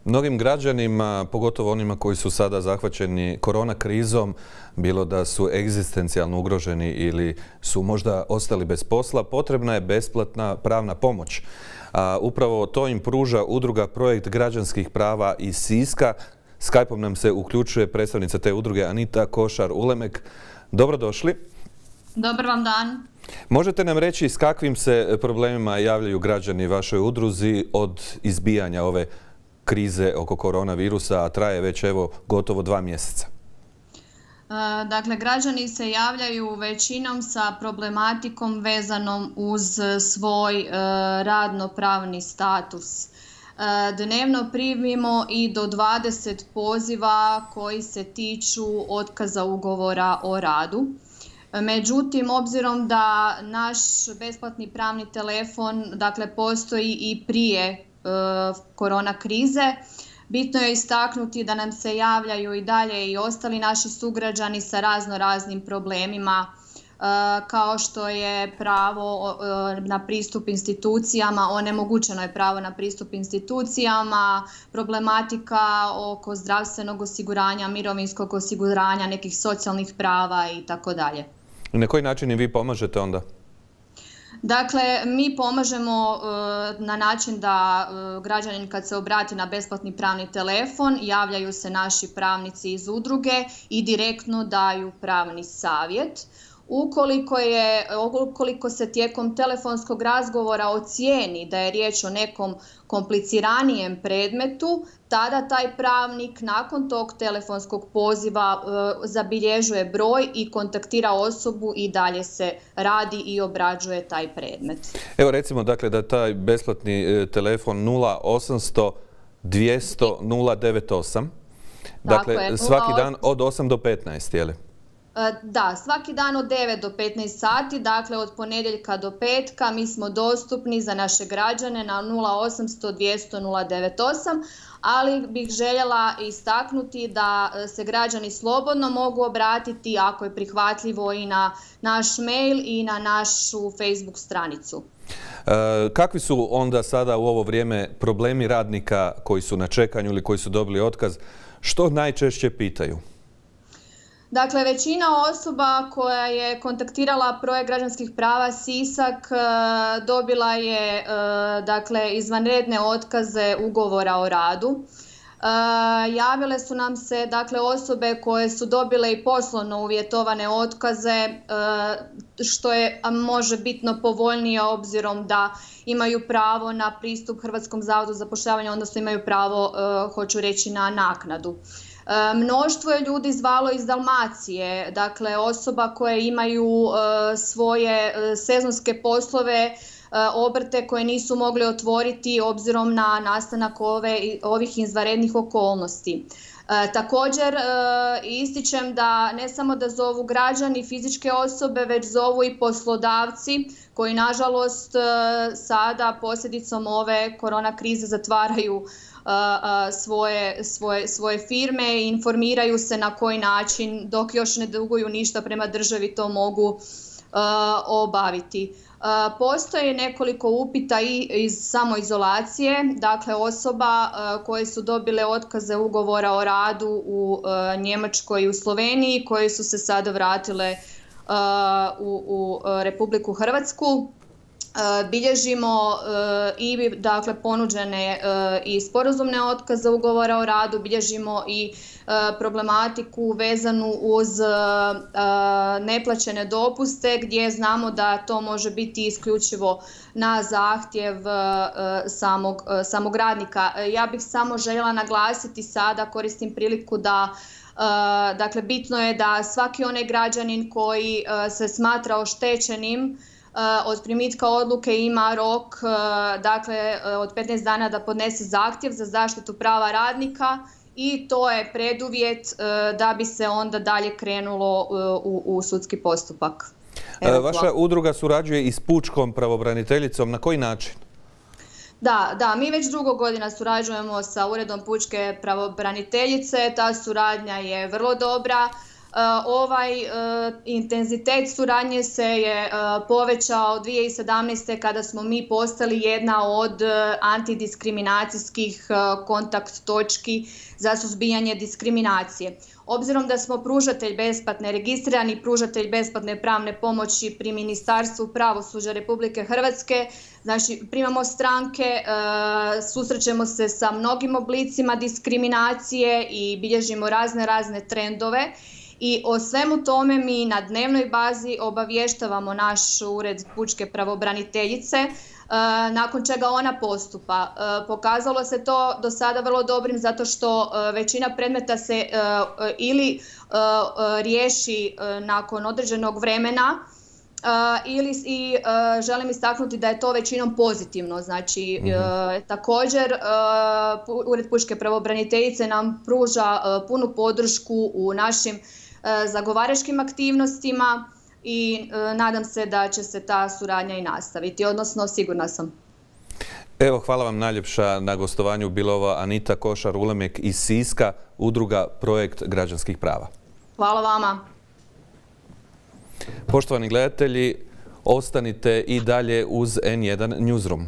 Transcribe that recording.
Mnogim građanima, pogotovo onima koji su sada zahvaćeni korona krizom, bilo da su egzistencijalno ugroženi ili su možda ostali bez posla, potrebna je besplatna pravna pomoć. A upravo to im pruža udruga Projekt građanskih prava iz Siska. Skype-om nam se uključuje predstavnica te udruge Anita Košar-Ulemek. Dobrodošli. Dobar vam dan. Možete nam reći s kakvim se problemima javljaju građani vašoj udruzi od izbijanja ove krize oko koronavirusa, a traje već evo gotovo 2 mjeseca? Dakle, građani se javljaju većinom sa problematikom vezanom uz svoj radno-pravni status. Dnevno primimo i do 20 poziva koji se tiču otkaza ugovora o radu. Međutim, obzirom da naš besplatni pravni telefon postoji i prije korona krize, bitno je istaknuti da nam se javljaju i dalje i ostali naši sugrađani sa raznim problemima, kao što je pravo na pristup institucijama, onemogućeno je pravo na pristup institucijama, problematika oko zdravstvenog osiguranja, mirovinskog osiguranja, nekih socijalnih prava i tako dalje. I na koji način i vi pomažete onda? Dakle, mi pomažemo na način da građanin kad se obrati na besplatni pravni telefon, javljaju se naši pravnici iz udruge i direktno daju pravni savjet. Ukoliko se tijekom telefonskog razgovora ocijeni da je riječ o nekom kompliciranijem predmetu, tada taj pravnik nakon tog telefonskog poziva zabilježuje broj i kontaktira osobu i dalje se radi i obrađuje taj predmet. Evo recimo da taj besplatni telefon 0800 200 098, dakle svaki dan od 8 do 15, je li? Da, svaki dan od 9 do 15 sati, dakle od ponedjeljka do petka mi smo dostupni za naše građane na 0800 200 098, ali bih željela istaknuti da se građani slobodno mogu obratiti ako je prihvatljivo i na naš mail i na našu Facebook stranicu. Kakvi su onda sada u ovo vrijeme problemi radnika koji su na čekanju ili koji su dobili otkaz? Što najčešće pitaju? Dakle, većina osoba koja je kontaktirala Projekt građanskih prava Sisak dobila je izvanredne otkaze ugovora o radu. Javile su nam se osobe koje su dobile i poslovno uvjetovane otkaze, što je možebitno povoljnije obzirom da imaju pravo na pristup Hrvatskom zavodu za zapošljavanje, odnosno imaju pravo, hoću reći, na naknadu. Mnoštvo je ljudi zvalo iz Dalmacije, dakle osoba koje imaju svoje sezonske poslove, obrte koje nisu mogli otvoriti obzirom na nastanak ovih izvanrednih okolnosti. Također ističem da ne samo da zovu građani, fizičke osobe, već zovu i poslodavci koji nažalost sada posljedicom ove korona krize zatvaraju svoje firme i informiraju se na koji način, dok još ne duguju ništa prema državi, to mogu obaviti. Postoje nekoliko upita i iz samoizolacije, dakle osoba koje su dobile otkaze ugovora o radu u Njemačkoj i u Sloveniji, koje su se sada vratile u Republiku Hrvatsku. Bilježimo i ponuđene i sporazumne otkaze ugovora o radu, bilježimo i problematiku vezanu uz neplaćene dopuste gdje znamo da to može biti isključivo na zahtjev samog radnika. Ja bih samo željela naglasiti sada, koristim priliku da bitno je da svaki onaj građanin koji se smatra oštećenim od primitka odluke ima rok od 15 dana da podnese zahtjev za zaštitu prava radnika i to je preduvjet da bi se onda dalje krenulo u sudski postupak. Vaša udruga surađuje i s pučkom pravobraniteljicom. Na koji način? Da, mi već dugo godina surađujemo sa Uredom pučke pravobraniteljice. Ta suradnja je vrlo dobra. Ovaj intenzitet suradnje se je povećao 2017. kada smo mi postali jedna od antidiskriminacijskih kontakt točki za suzbijanje diskriminacije. Obzirom da smo registrirani pružatelj besplatne pravne pomoći pri Ministarstvu pravosuđa Republike Hrvatske, znači primamo stranke, susrećemo se sa mnogim oblicima diskriminacije i bilježimo razne trendove. I o svemu tome mi na dnevnoj bazi obavještavamo naš ured pučke pravobraniteljice, nakon čega ona postupa. Pokazalo se to do sada vrlo dobrim zato što većina predmeta se ili riješi nakon određenog vremena, i želim istaknuti da je to većinom pozitivno. Znači, također Ured pučke pravobraniteljice nam pruža punu podršku u našim zagovaračkim aktivnostima i nadam se da će se ta suradnja i nastaviti, odnosno sigurna sam. Evo, hvala vam najljepša na gostovanju. Bila ova Anita Košar-Ulemek iz Siska, udruga Projekt građanskih prava. Hvala vama. Poštovani gledatelji, ostanite i dalje uz N1 Newsroom.